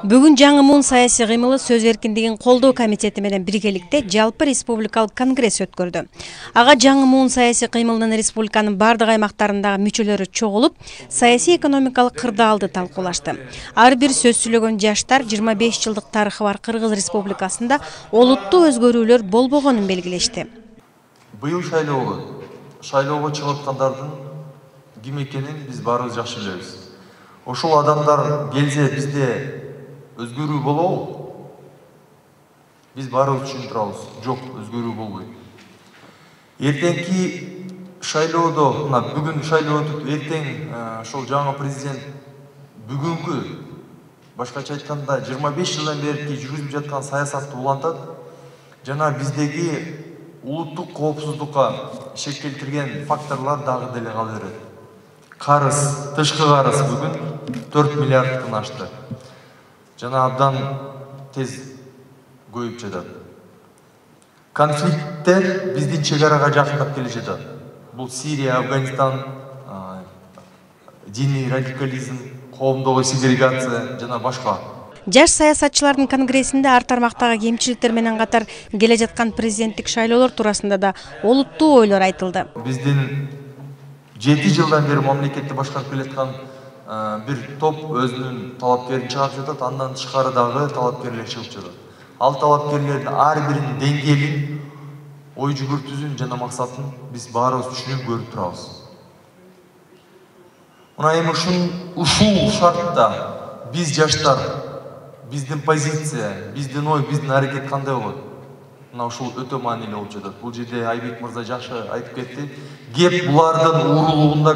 Бүгүн жаңы муун саясий кыймылы сөз эркиндигин колдоо комитети менен биргеликте жалпы республикалык конгресс өткөрдү. Ага жаңы муун саясий кыймылынын республиканын бардык аймактарындагы мүчөлөрү чогулуп, саясий экономикалык кырдаалды талкуулашты. Ар бир сөз сүйлөгөн жаштар 25 жылдык тарыхы бар Кыргыз Республикасында олуттуу өзгөрүүлөр болбогонун белгилешти. Быйыл шайлоого чыгып аткандардын ким экенин биз баарыбыз жакшы билебиз. Ошол адамдар келсе бизде өзгөрүү болобу? Биз баарыбыз түшүнүп турабыз. Жок, өзгөрүү болбойт. Эртеңки шайлоодо, бүгүн шайлоо өтүп, эртең ошол жаңы президент бүгүнкү, башкача айтканда 25 жылдан бери жүргүзүп жаткан саясатты улантат жана биздеги улуттук коопсуздукка шек келтирген факторлор дагы деле кала берет. Карыз, тышкы карыз бүгүн 4 миллиардтан ашты. Жана абдан тез көйүп жатат. Конфликттер биздин чегарага жакындап келе жатат. Бул Сирия, Афганистан, диний радикализм, коомдогу сегрегация жана башка. Жаш саясатчылардын конгрессинде ар тармактагы кемчиликтер менен катар келе жаткан президенттик шайлоолор туурасында да олуттуу ойлор айтылды. Биздин 7 жылдан бери мамлекетти башкарып келаткан бир топ өзүнүн талапкерин чыгарып жатат, андан тышкары дагы талапкерлер чыгып жатат. Ал талапкерлердин ар биринин деңгээлин, ой жүгүртүүсүн жана максатын биз баарыбыз түшүнүп көрүп турабыз. Мына эми ушул шартта биз жаштар, биздин позиция, биздин ой, биздин аракет кандай болот? Мына ушул өтө маанилүү болуп жатат. Бул жерде Айбек мырза жакшы айтып кетти. Кеп булардын уурулугунда,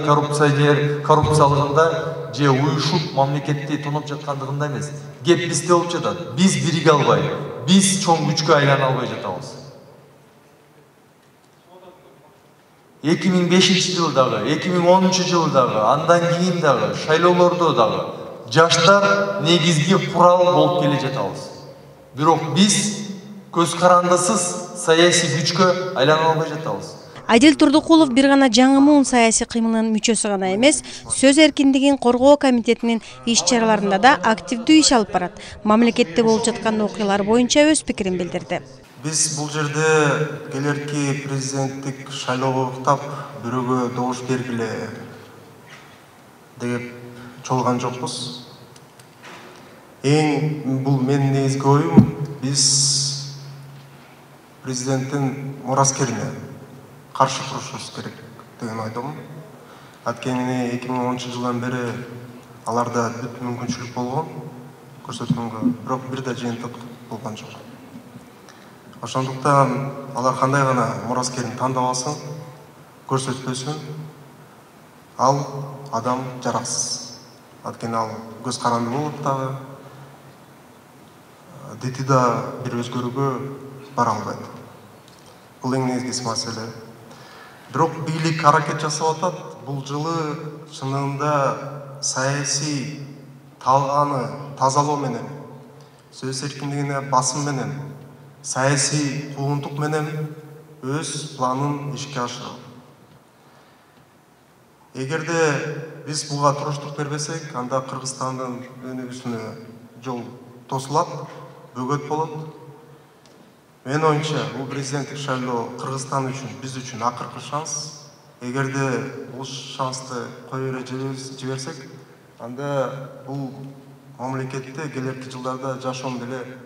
коррупциялыгында же уюшуп мамлекетти тоноп жаткандыгында эмес. Кеп бизде болуп жатат. Биз бириге албай, биз чоң күчкө айлана албай жатабыз. 2005 жылдагы, 2010 жылдагы, андан кийин дагы, шайлоолордо дагы жаштар негизги курал болуп келе жатабыз. Бирок биз көз карандысыз саясий күчкө айлана албай жатабыз. Адил Турдукулов бир гана жаңы муун саясий кыймылынын мүчөсү гана эмес, сөз эркиндигин коргоо комитетинин иш-чараларында да активдүү иш алып барат. Мамлекетте болуп жаткан окуялар боюнча өз пикирин билдирди. Биз бул жерде келерки президенттик шайлоого уктап, бирөөгө добуш бергиле деп чогулган жокпуз. Бул менин негизги оюм, биз президенттин мураскерине каршы турушубуз керек деген ойдомун. Анткени 2010 жылдан бери аларда бүт мүмкүнчүлүк болгон көрсөткөнгө, бирок бир да жыйынтык болгон жок. Ошондуктан алар кандай гана мураскерин тандап алсын, көрсөтпөсүн, ал адам жараксыз. Анткени ал көз каранды болуп дагы, дети да бир өзгөрүүгө бара албайт. Бул эң негизги маселе. Бирок бийлик аракет жасап атат. Бул жылы чынында саясий талгааны тазалоо менен, сөз эркиндигине басым менен, саясий куугунтук менен өз планын ишке ашырат. Эгерде биз буга туруштук бербесек, анда Кыргызстандын өнүгүүсүнө жол тосулат, бөгөт болот. Мен оюмча, бул президенттик шайлоо Кыргызстан үчүн, биз үчүн акыркы шанс. Эгерде бул шансты кое жиберсек, анда бул мамлекетте келерки жылдарда жашоонун деле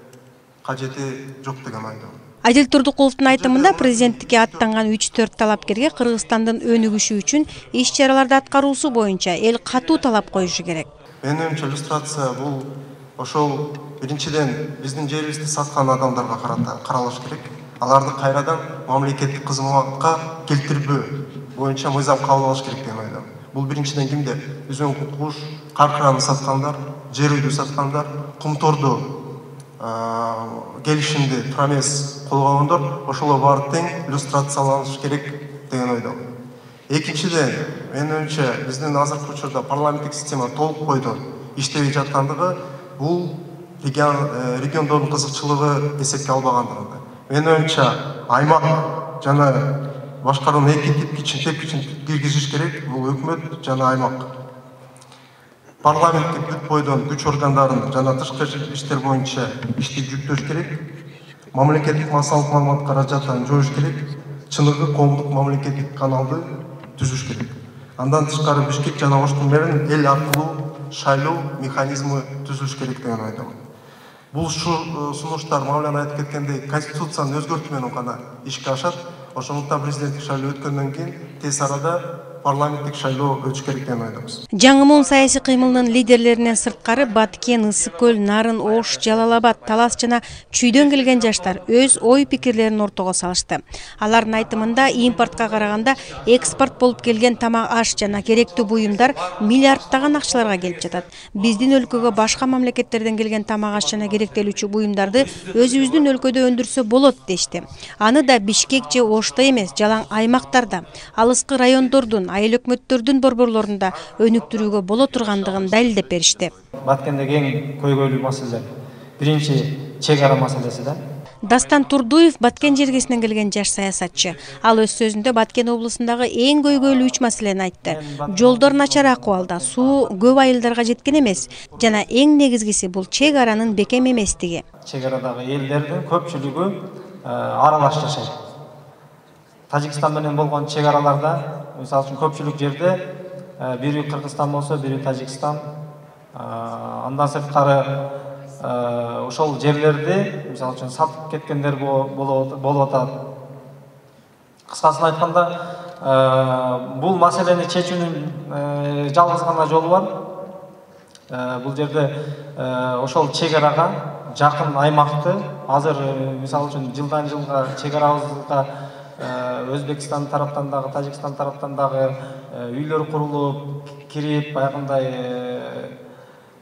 кажети жок деген ойдомун. Адил Турдукуловдун айтымында президенттикке аттанган 3-4 талапкерге Кыргызстандын өнүгүшү үчүн иш-чараларды аткаруусу боюнча эл катуу талап коюшу керек. Менин оюмча, иллюстрация бул ошол биринчиден биздин жерибизди саткан адамдарга каралыш керек. Аларды кайрадан мамлекеттик кызматка келтирбөө боюнча мыйзам кабыл алыш керек деген ойдомун. Бул биринчиден кимдер? Үзөң куткуш, каркыраны саткандар, жер үйдү саткандар, кумторду келишимди тура эмес колгогондор, ошолор баары тең иллюстрацияланыш керек деген ойдомун. Экинчиден, менин оюмча, биздин азыркы учурда парламенттик система толук бойдон иштебей жаткандыгы, бул региондордун кызыкчылыгы эсепке албагандыгында. Менин оюмча, аймак жана башкарууну эки тепкичин киргизиш керек, бул өкмөт жана аймак. парламентке бүт бойдон күч органдарын жана тышкы иштер боюнча ишти жүктөш керек, мамлекеттик массалык маалымат каражатын жоюш керек, чыныгы коомдук мамлекеттик каналды түзүш керек. Андан тышкары Бишкек жана Оштун мэрин эл аркылуу шайлоо механизми түзүлүш керек деген ойдомун. Бул сунуштар Мавлян айтып кеткендей конституцияны өзгөртүү менен гана ишке ашат. Ошондуктан президенттик шайлоо өткөндөн кийин тез арада парламенттик шайлоо өтүш керек деген ойдобуз. Жаңы муун саясий кыймылынын лидерлеринен сырткары Баткен, Ысык көл, Нарын, Ош, Жалал-Абад, Талас жана Чүйдөн келген жаштар өз ой пикирлерин ортого салышты. Алардын айтымында импортко караганда экспорт болуп келген тамак аш жана керектүү буюмдар миллиардтаган акчаларга келип жатат. Биздин өлкөгө башка мамлекеттерден келген тамак аш жана керектелүүчү буюмдарды өзүбүздүн өлкөдө өндүрсө болот дешти. Аны да Бишкек же Ошто эмес, жалаң аймактарда, алыскы райондордун, айыл өкмөттөрдүн борборлорунда өнүктүрүүгө боло тургандыгын далилдеп беришти. Баткендеги эң көйгөйлүү маселе биринчи чек ара маселеси да. Дастан Турдуев Баткен жергесинен келген жаш саясатчы. Ал өз сөзүндө Баткен облусундагы эң көйгөйлүү 3 маселени айтты. Жолдор начар акыбалда, суу көп айылдарга жеткен эмес жана эң негизгиси бул чек аранын бекем эместиги. Чек арадагы элдердин көпчүлүгү аралаш жашайт. Тажикстан менен болгон чек араларда, мисалы үчүн көпчүлүк жерде бири Кыргызстан болсо, бири Тажикстан, андан сырткары ошол жерлерди мисалы үчүн сатып кеткендер болуп атат. Кыскасын айтканда, бул маселени чечүүнүн жалгыз гана жолу бар. Бул жерде ошол чек арага жакын аймакты азыр мисалы үчүн жылдан жылга чек арабызга Өзбекстан тараптан дагы, Тажикстан тараптан дагы үйлөр курулуп, кирип, баягындай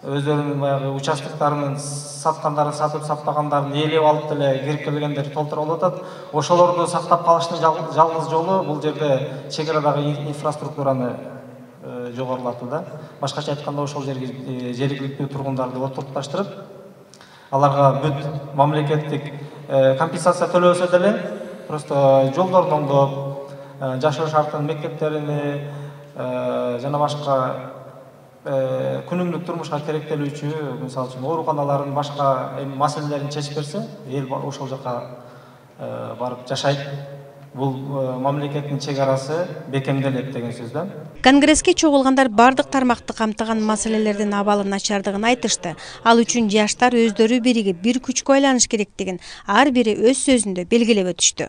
өздөрүнүн баягы участоктарын саткандарын сатып, сатпагандарын ээлеп алып деле кирип келгендер толтура болуп атат. Ошолорду сактап калыштын жалгыз жолу бул жерде чек арадагы инфраструктураны жогорулатуу да. Башкача айтканда ошол жерге жергиликтүү тургундарды отурташтырып, аларга бүт мамлекеттик компенсация төлөбөсө деле просто жолдорду оңдоп, жашоо шартын, мектептерини жана башка күнүмдүк турмушка керектелүүчү, мисалы үчүн ооруканалардын башка маселелерин чечип берсе, эл ошол жака барып жашайт. Бул мамлекеттин чек арасы бекемделет деген сөз да. Конгресске чогулгандар бардык тармакты камтыган маселелердин абалы начардыгын айтышты. Ал үчүн жаштар өздөрү биригип, бир күчкө айланыш керектигин ар бири өз сөзүндө белгилеп өтүштү.